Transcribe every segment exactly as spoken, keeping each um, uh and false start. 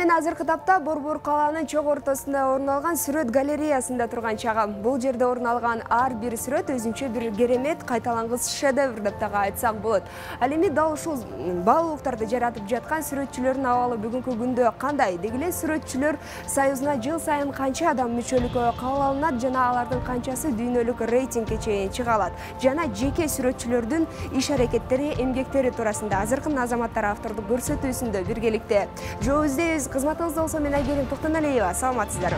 мен азыркы тапта Борбор калаанын чок ортосунда орун алган сүрөт галереясында турган чагым. Бул жерде орун алган ар бир сүрөт өзүнчө бир керемет, кайталангыс шедевр деп дагы айтсак болот. Ал эми дал ушул баалуулуктарды жаратып жаткан сүрөтчүлөрдүн абалы бүгүнкү күндө кандай? Деги эле сүрөтчүлөр союзуна жыл сайын канча адам мүчөлүккө кабыл алынат жана алардын канчасы дүйнөлүк рейтингге чейин чыга алат? Жана жеке сүрөтчүлөрдүн иш-аракеттери, эмгектери туурасында азыркы Азаматтар автордук көрсөтүүсүндө биргеликте жоо издейбиз. Кызматыңызда болсо мен Айгерим Токтоналиева. Саламатсыздарбы?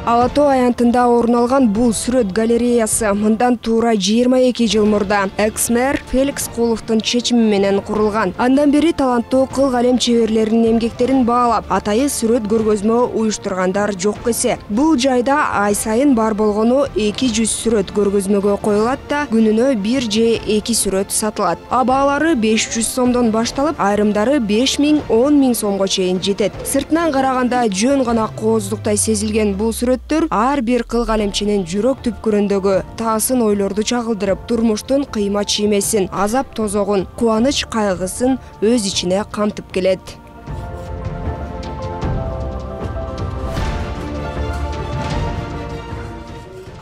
Ала Тоо аянтында орун алган бул сүрөт галереясы мындан туура жыйырма эки жыл мурда экс-мэр Феликс Куловдун чечими менен курулган. Андан бери таланттуу кыл калем чеберлеринин эмгектерин баалап, атайы сүрөт көргөзмө уюштургандар жок эсе. Бул жайда ай сайын бар болгону эки жүз сүрөт көргөзмөгө коюлат да, күнүнө бир же эки сүрөт сатылат. Абаалары беш жүз сомдон башталып, айрымдары беш миң он миң сомго чейин жетет. Сыртынан караганда жөн гана кооздуктай сезилген бул сүрөт ар бир кыл калемчинин жүрөк түпкүрүндөгү таасын ойлорду чагылдырып, турмуштун кыйма чиймесин, азап тозогун, кубаныч кайгысын өз ичине камтып келет.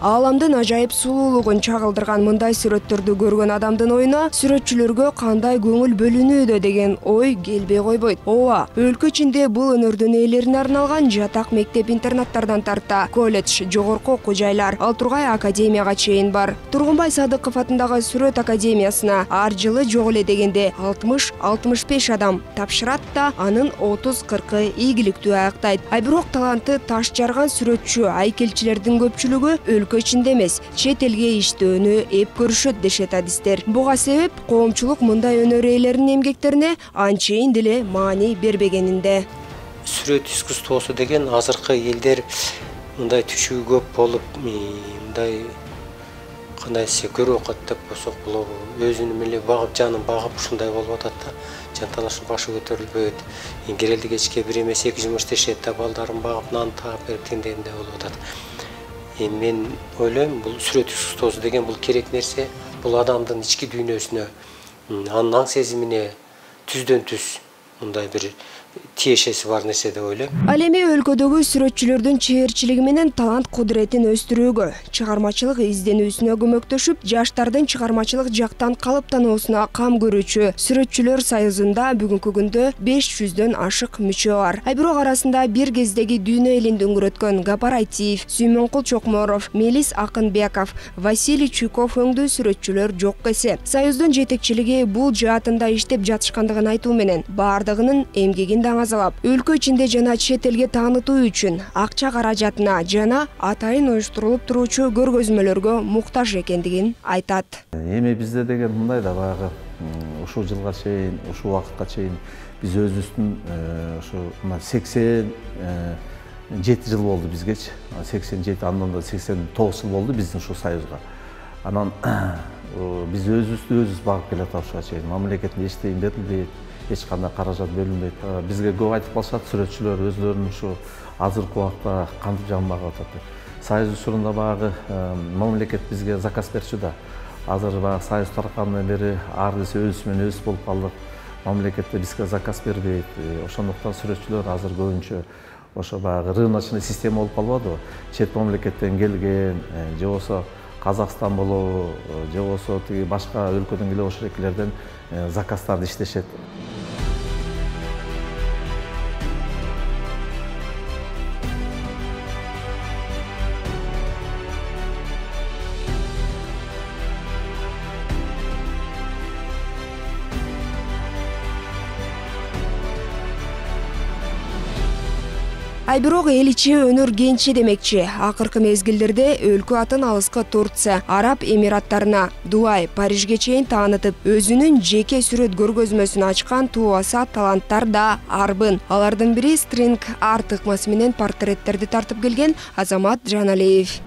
Ааламдын ажайып сулуулугун чагылдырган мындай сүрөттөрдү көргөн адамдын оюна сүрөтчүлөргө кандай көңүл бөлүнүүдө деген ой келбей койбойт. Ооба, өлкө ичинде бул өнөрдүн ээлерине арналган жатак мектеп-интернаттардан тарта колледж, жогорку окуу жайлар, ал тургай академияга чейин бар. Тургунбай Садыков атындагы сүрөт академиясына ар жылы жок эле дегенде алтымыш алтымыш беш адам тапшырат да, анын отуз кыркы ийгиликтүү аяктайт. Ай бирок таланты таш жарган сүрөтчү айкелчилердин көпчүлүгү өлкө ичинде эмес, чет элге иштөөнү эп көрүшөт дешет адистер. Буга себеп коомчулук мындай өнөр ээлеринин эмгектерине анчейин деле маани бербегенинде. Сүрөт искусствосу деген азыркы элдер мындай түшүү көп болуп, мындай кандай десе көрүп окат деп болсок болобу, өзүнүн эле багып, жанын багып ушундай болуп атат да. Жанталашып башы көтөрүлбөйт. Керелди кечке бир эмес эки жумуш иштешет да, балдарын багып, нан таап берип теңдегенде болуп атат. Мен ойлойм, бул сүрөт искусствосу деген бул керек нерсе, бул адамдын ички дүйнөсүнө, анын аң сезимине түздөн түз мындай бир тиешеси бар нерсе деп ойлойм. Ал эми өлкөдөгү сүрөтчүлөрдүн чеберчилиги менен талант кудуретін өстүрүүгө, чыгармачылык изденүүсүнө көмөктөшүп, жаштардын чыгармачылык жактан калыптануусуна кам көрүүчү Сүрөтчүлөр союзунда бүгүнкү күндө беш жүздөн ашык мүчө бар. Ай бирок арасында бир кездеги дүйнө элин дөңгөрөткөн Гапар Айтиев, Сүймөнкул Чокморов, Мелис Акынбеков, Василий Чуйков өңдүү сүрөтчүлөр жок эсе. Союздун жетекчилиги бул жаатында иштеп жатышкандыгын айтуу менен бардыгынын эмгегин даңазалап, өлкө ичинде жана чет элге таанытуу үчүн акча каражатына жана атайын уюштурулуп туруучу көргөзмөлөргө муктаж экендигин айтат. Эми бизде деген мындай да баягы ушул жылга чейин, ушул убакытка чейин биз өзүбүздүн ушу сексен жети жыл болду бизгечи. сексен жети, андан да сексен тогуз жыл болду биздин ушул союзга. Анан биз өзүбүздү өзүбүз багып келатабыз ушуга чейин. Мамлекеттен эчтеке берилбейт, эч кандай каражат бөлүнбөйт. Бизге көп айтып калышат сүрөтчүлөр өздөрүнүн ушу азыркы убакта кантип жан багып атат деп. Союз учурунда баягы мамлекет бизге заказ берчү да. Азыр баягы союз таркандан бери ар кайсы өз менен өз болуп калдык. Мамлекет бизге заказ бербейт. Ошондуктан сүрөтчүлөр азыр көбүнчө ошо баягы рыночный система болуп калбадыбы? Чет мамлекеттен келген, же болсо Казакстан болобу, же болсо тиги башка өлкөдөн келе ошолеклерден заказдарды иштешет. Ай бирок эл ичи өнөр кенчи демекчи. Акыркы мезгилдерде өлкө атын алыска Турция, Араб Эмираттарына, Дубай, Парижге чейин таанытып, өзүнүн жеке сүрөт көргөзмөсүн ачкан туубаса таланттар да арбын. Алардын бири стринг арт ыкмасы менен портреттерди тартып келген Азамат Жаналиев.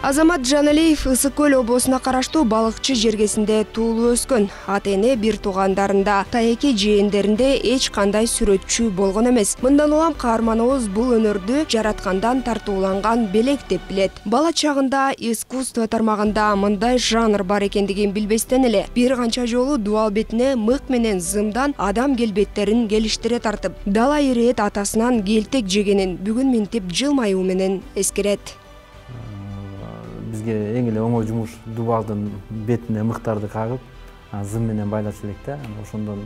Азамат Жаналиев Ысык көл облусуна караштуу Балыкчы жергесинде туулуп өскөн. Ата эне бир туугандарында, тайеки жээндеринде эч кандай сүрөтчү болгон эмес. Мындан улам каарманыбыз бул өнөрдү жараткандан тартууланган белек деп билет. Бала чагында искусство тармагында мындай жанр бар экендигин билбестен эле бир канча жолу дубал бетине мык менен зымдан адам келбеттерин келиштире тартып, дала ирет атасынан келтек жегенин бүгүн минтип жылмаюу менен эскерет. Бизге эң эле оңой жумуш дубалдын бетине мыктарды кагып, зым менен байлаш элек да. Ошондон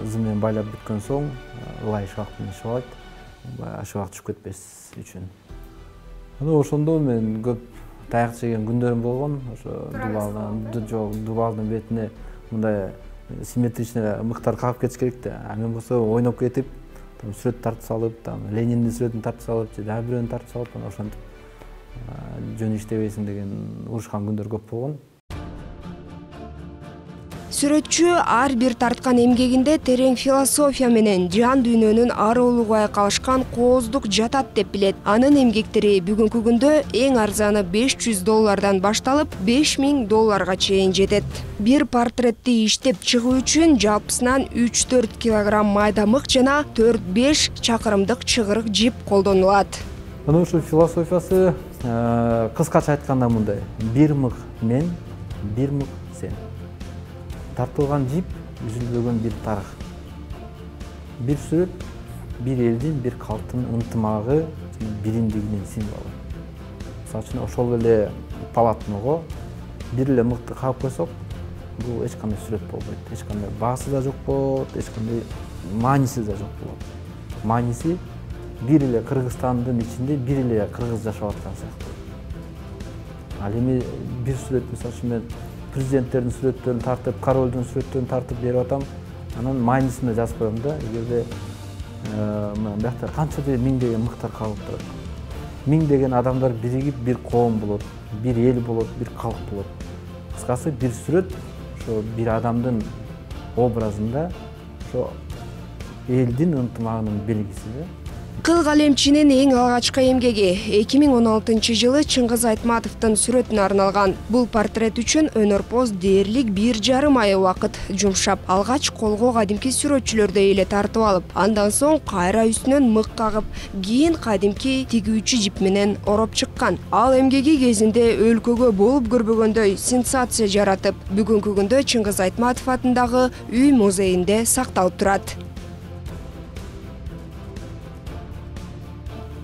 зым менен байлап бүткөн соң ылай шабак менен шабайт. Шабак түшүп кетпес үчүн. Ошондо мен көп таяк жеген күндөрүм болгон. Ошо дубалдын жок, дубалдын бетине мындай симметричный мыктар кагып кетиш керек да. А мен болсо ойноп кетип, сүрөт тартып салып, Лениндин сүрөтүн тартып салып, же дагы бирөөнү тартып салып, ошентип жөн иштебейсиң деген урушкан күндөр көп болгон. Сүрөтчү ар бир тарткан эмгегинде терең философия менен жан дүйнөнүн ар улугай калышкан кооздук жатат деп билет. Анын эмгектери бүгүнкү күндө эң арзаны беш жүз доллардан башталып беш миң долларга чейин жетет. Бир портретти иштеп чыгуу үчүн жалпысынан үч төрт килограмм майда мык жана төрт беш чакырымдык чыгырык жип колдонулат. Анын ушул философиясы кыскача айтканда мындай: бир мык мен, бир мык сен. Тартылган жип үзүлбөгөн бир тарых. Бир сүрөт бир элдин, бир калктын ынтымагы, биримдигинин символу. Мисалы үчүн ошол эле полотного бир эле мыкты кагып койсок, бул эч кандай сүрөт болбойт. Эч кандай баасы да жок болот, эч кандай мааниси да жок болот. Мааниси бир эле Кыргызстандын ичинде бир эле кыргыз жашап аткан сыяктуу. Ал эми бир сүрөт, мисалы үчүн мен президенттердин сүрөттөрүн тартып, королдун сүрөттөрүн тартып берип атам, анан маанисин да жазып коем да. Эгерде биякта канча миңдеген мыктар калып турат. Миңдеген адамдар биригип бир коом болот, бир эл болот, бир калк болот. Кыскасы бир сүрөт ошо бир адамдын образында ошо элдин ынтымагынын белгиси да. Кыл калемчинин эң алгачкы эмгеги эки миң он алтынчы жылы Чыңгыз Айтматовдун сүрөтүнө арналган. Бул портрет үчүн өнөрпоз дээрлик бир жарым ай убакыт жумшап, алгач колго кадимки сүрөтчүлөрдөй эле тартып алып, андан соң кайра үстүнөн мык кагып, кийин кадимки тигүүчү жип менен ороп чыккан. Ал эмгеги кезинде өлкөгө болуп көрбөгөндөй сенсация жаратып, бүгүнкү күндө Чыңгыз Айтматов атындагы үй музейинде сакталып турат.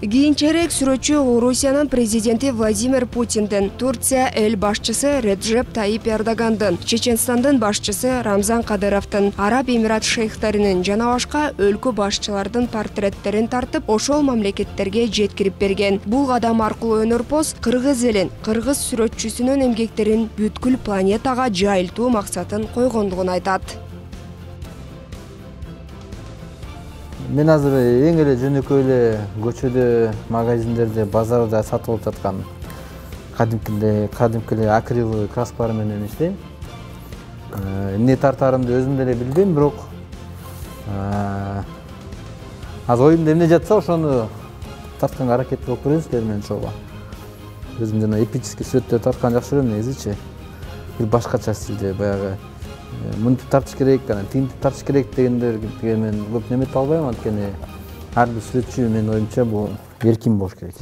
Кийинчерээк сүрөтчү Орусиянын президенти Владимир Путиндин, Турция эл башчысы Реджеп Тайип Эрдогандын, Чеченстандын башчысы Рамзан Кадыровдун, Араб Эмират шейхтеринин жана башка өлкө башчылардын портреттерин тартып, ошол мамлекеттерге жеткирип берген. Бул кадам аркылуу өнөрпоз кыргыз элин, кыргыз сүрөтчүсүнүн эмгектерин бүткүл планетага жайылтуу максатын койгондугун айтат. Мен азыр эң эле жөнөкөй эле көчөдө, магазиндерде, базарда сатып алып жаткан кадимкиле, кадимки эле акриловый краскалар менен иштейм. Эмне тартаарымды өзүм деле билбейм, бирок азыр оюмда эмне жатса ошону тартканга аракет кылып көрөйүн силер менен чогуу. Өзүм жана эпический сүрөттөр тартканды жакшы көрөм негизичи. Бир башкача стилде, баягы мынтип тартыш керек, анан тигинтип тартыш керек дегендерге мен көп немете албайм, анткени ар бир сүрөтчү менин оюмча бул эркин болуш керек.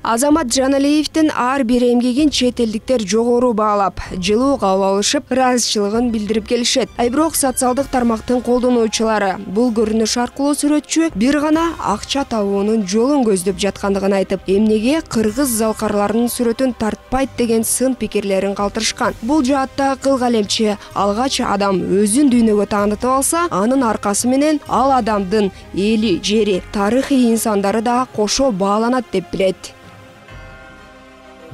Азамат Жаналиевдин ар бир эмгегин чет элдиктер жогору баалап, жылуу кабыл алышып, ыраазычылыгын билдирип келишет. А бирок социалдык тармактын колдонуучулары бул көрүнүш аркылуу сүрөтчү бир гана акча табуунун жолун көздөп жаткандыгын айтып, эмнеге кыргыз залкарларынын сүрөтүн тартпайт деген сын пикирлерин калтырышкан. Бул жаатта кыл калемчи алгач адам өзүн дүйнөгө таанытып алса, анын аркасы менен ал адамдын эли, жери, тарыхый инсандары да кошо бааланат деп билет.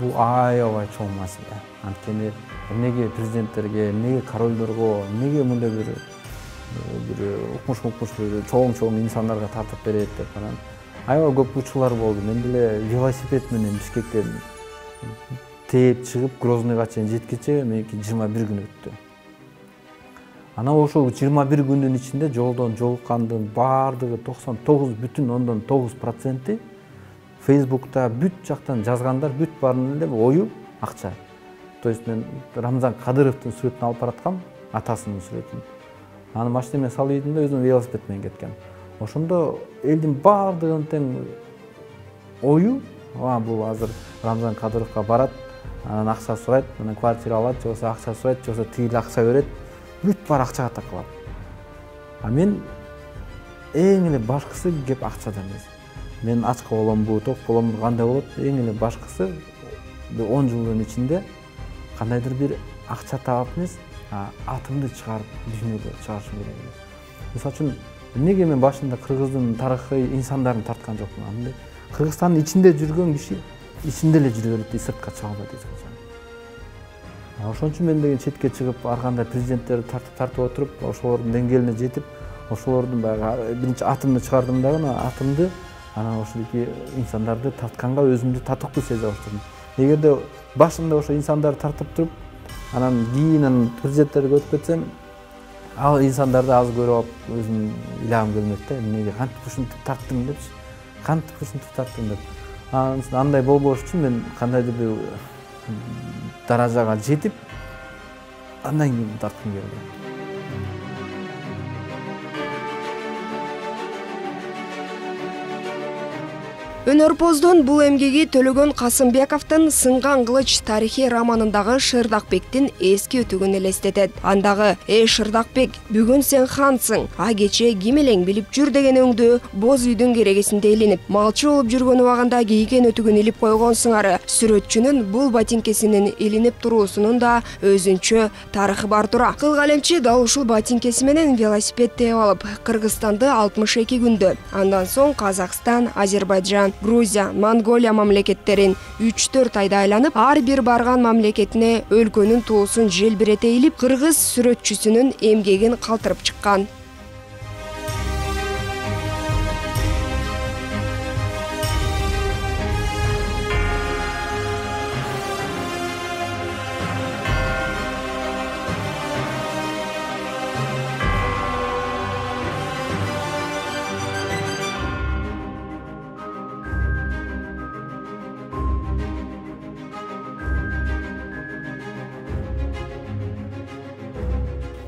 Бул аябай чоң маселе. Анткени эмнеге президенттерге, эмнеге королдорго, эмнеге мындай бир бир укмуш-укмуш бир чоң-чоң инсандарга тартып берет деп анан аябай көп учурлар болду. Мен деле велосипед менен Бишкектен тээп чыгып Грозныйга чейин жеткиче меники жыйырма бир күн өттү. Анан ошол жыйырма бир күндүн ичинде жолдон жолуккандын баардыгы токсон тогуз бүтүн ондон тогуз проценти Facebook'ta бүт жактан жазгандар бүт баарынын эле ою акча. То есть мен Рамзан Кадыровдун сүрөтүн алып бараткам, атасынын сүрөтүн. Аны машинеме салып ийдим да өзүм велосипед менен кеткем. Ошондо элдин баардыгынын тең ою, а бул азыр Рамзан Кадыровго барат, анан акча сурайт, анан квартира алат, же болбосо акча сурайт, же болбосо тигил акча берет, бүт баары акчага такалат. А мен эң эле башкысы кеп акчада эмес. Мен ачка боломбу, ток боломбу, кандай болот? Эң эле башкысы он жылдын ичинде кандайдыр бир акча таап эмес, атымды чыгарып дүйнөгө чыгарышым керек эле. Мисалы үчүн эмнеге мен башында кыргыздын тарыхый инсандарын тарткан жокмун? Кыргызстандын ичинде жүргөн киши ичинде эле жүрө берет, сыртка чыга албайт эч качан. Ошон үчүн мен деген четке чыгып, ар кандай президенттерди тартып тартып отуруп, ошолордун деңгээлине жетип, ошолордун баягы биринчи атымды чыгардым дагы, атымды анан ошондой инсандарды тартканга өзүмдү татыктуу сезе баштадым. Эгерде башында ошо инсандарды тартып туруп, анан кийин президенттерге өтүп кетсем, ал инсандарды аз көрүп алып, өзүм ыйлагым келмек да, эмнеге кантип ушинтип тарттым депчи, кантип ушинтип тарттым деп. Анан андай болбош үчүн мен кандайдыр бир даражага жетип, андан кийин тарткым келди. Өнөрпоздун бул эмгеги Төлөгөн Касымбековдун Сынган кылыч тарихий романындагы Шырдакбектин эски өтүгүн элестетет. Андагы «Эй Шырдакбек, бүгүн сен хансың, а кече ким элең билип жүр» деген өңдү боз үйдүн керегесинде илинип, малчы болуп жүргөн убагында кийген өтүгүн илип койгон сыңары сүрөтчүнүн бул ботинкесинин илинип туруусунун да өзүнчө тарыхы бар тура. Кыл калемчи дал ушул ботинкеси менен велосипед тээп алып, Кыргызстанды алтымыш эки күндө, андан соң Казакстан, Азербайжан, Грузия, Монголия мамлекеттерин үч төрт айда айланып, ар бир барган мамлекетине өлкөнүн туусун желбирете илип, кыргыз сүрөтчүсүнүн эмгегин калтырып чыккан.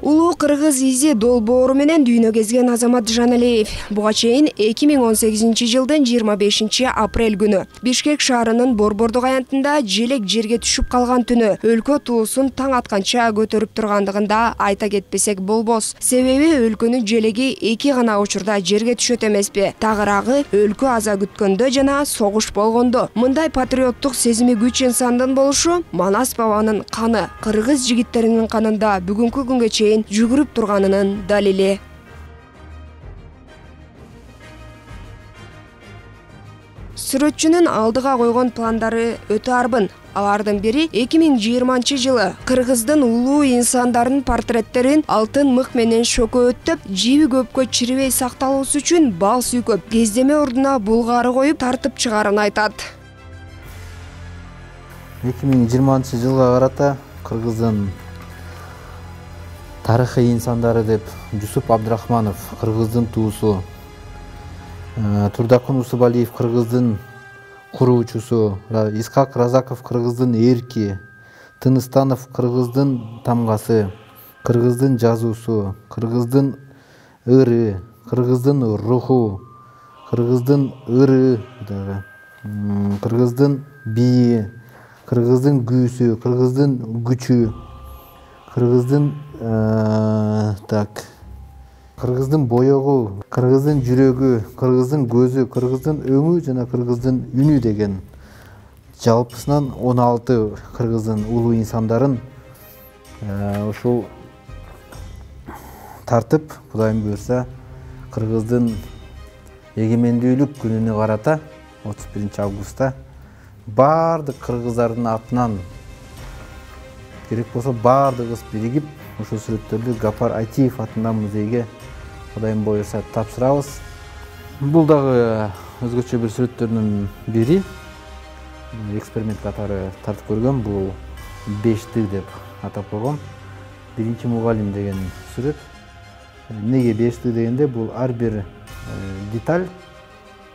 Улуу кыргыз изи долбоору менен дүйнө кезген Азамат Жаналиев буга чейин эки миң он сегизинчи жылдын жыйырма бешинчи апрель күнү Бишкек шаарынын Борбордук аянтында желек жерге түшүп калган түнү өлкө туусун таң атканча көтөрүп тургандыгын да айта кетпесек болбос. Себеби өлкөнүн желеги эки гана учурда жерге түшөт эмеспи? Тагыраагы өлкө аза күткөндө жана согуш болгондо. Мындай патриоттук сезими күч инсандын болушу Манас бабанын каны, кыргыз жигиттеринин канында бүгүнкү күнгө чейин жүгүрүп турганынын далили. Сүрөтчүнүн алдыга койгон пландары өтө арбын. Алардын бири эки миң жыйырманчы жылы кыргыздын улуу инсандарынын портреттерин алтын мык менен шөкөөттөп, жиби көпкө чирибей сакталуусу үчүн бал сүйкөп, кездеме ордуна булгары коюп тартып чыгарын айтат. эки миң жыйырманчы жылга карата кыргыздын тарыхый инсандары деп Жусуп Абдрахманов кыргыздын туусу, Турдакун Усубалиев кыргыздын куруучусу, Исхак Разаков кыргыздын эрки, Тыныстанов кыргыздын тамгасы, кыргыздын жазуусу, кыргыздын ыры, кыргыздын руху, кыргыздын ыры дагы. кыргыздын бийи, кыргыздын күүсү, кыргыздын күчү, кыргыздын так кыргыздын боёгу, кыргыздын жүрөгү, кыргыздын көзү, кыргыздын өңү жана кыргыздын үнү деген жалпысынан он алты кыргыздын улуу инсандарын ушул тартып, Кудайым буйрса, кыргыздын эгемендүүлүк күнүнө карата отуз биринчи августта баардык кыргыздардын атынан керек болсо баардыгыбыз биригип ушул сүрөттөрдү Гапар Айтиев атындагы музейге Кудайым буйрса тапшырабыз. Бул дагы өзгөчө бир сүрөттөрдүн бири. Эксперимент катары тартып көргөм. Бул бештик деп атап койгом. Биринчи мугалим деген сүрөт. Неге бештик дегенде, бул ар бир деталь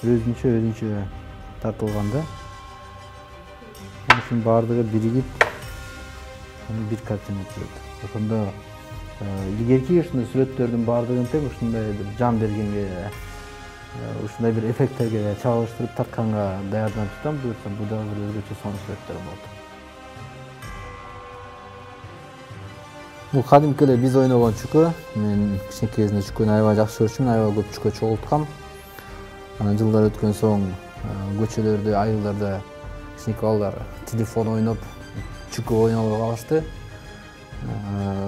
өзүнчө өзүнчө тартылганда. Ушунун баардыгы биригип бир картина түзөт. Ошондо илгерки ушундай сүрөттөрдүн баардыгын тең ушундай бир жан бергенге, ушундай бир эффекттерге чагылыштырып тартканга даярданып жатам. Буюрса бул дагы бир өзгөчө сонун сүрөттөр болот. Бул кадимки эле биз ойногон чүкө. Мен кичинекей кезинде чүкөнү аябай жакшы көрчүмүн, аябай көп чүкө чогулткам. Анан жылдар өткөн соң көчөлөрдө, айылдарда кичинекей балдар телефон ойноп чүкө ойногой калышты.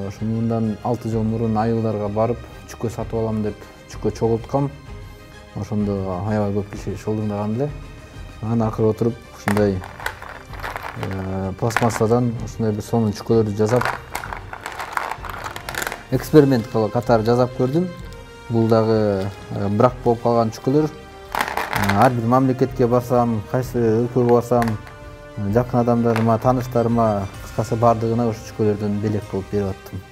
Ошондон алты жыл мурун айылдарга барып чүкө сатып алам деп чүкө чогулткам. Ошондо аябай көп киши шылдыңдаган эле. Анан акыры отуруп ушундай пластмассадан ушундай бир сонун чүкөлөрдү жасап эксперимент катары жасап көрдүм. Бул дагы брак болуп калган чүкөлөр. Ар бир мамлекетке барсам, кайсы өлкөгө барсам, жакын адамдарыма, тааныштарыма, кыскасы бардыгына ушу чүкөлөрдөн белек кылып берип аттым.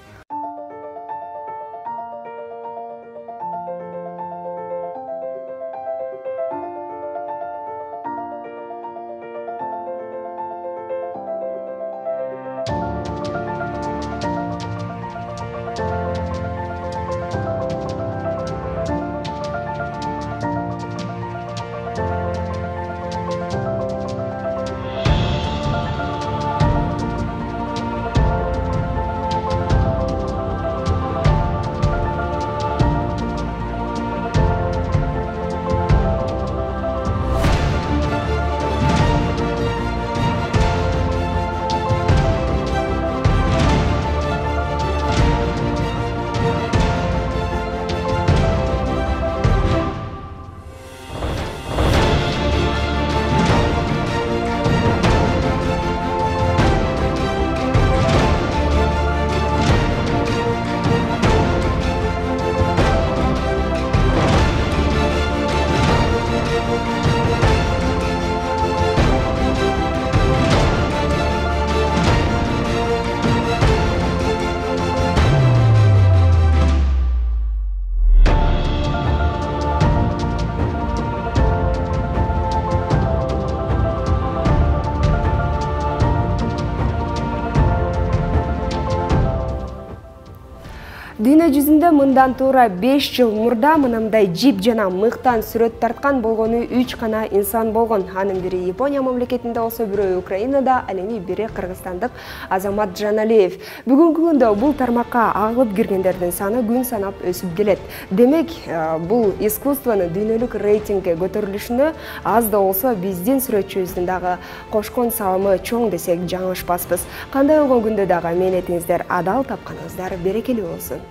Дүйнө жүзүндө мындан туура беш жыл мурда мындай жип жана мыктан сүрөт тарткан болгону үч гана инсан болгон. Анын бири Япония мамлекетинде болсо, бирөө Украинада, ал эми бири кыргызстандык Азамат Жаналиев. Бүгүнкү күндө бул тармакка агылып киргендердин саны күн санап өсүп келет. Демек, бул искусствонун дүйнөлүк рейтингге көтөрүлүшүнө аз да болсо биздин сүрөтчүбүздүн дагы кошкон салымы чоң десек жаңылышпаспыз. Кандай болгон күндө дагы мээнетиңиздер адал, тапканыңыздар берекелүү болсун.